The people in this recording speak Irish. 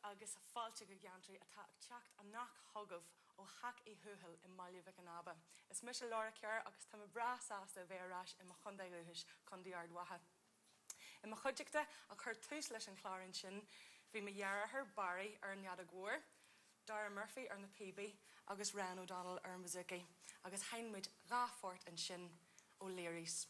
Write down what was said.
Agus fáilte go Geantraí atá ag teacht amach chugaibh ó Theach Uí Thuathail i mBaile Mhic an Aba. Is mise Laura Kerr agus tá mé breá sásta a bheith ar ais i mo chontae dhúchais, Contae Ard Mhacha. I mo chuideachta a chuir tús leis an chlár ansin bhí mo dheartháir Barry ar an fheadóg mhór, Dara Murphy ar na píobaí agus Ryan O'Donnell ar an bouzouki agus sheinn muid dha phort ansin ó Learys.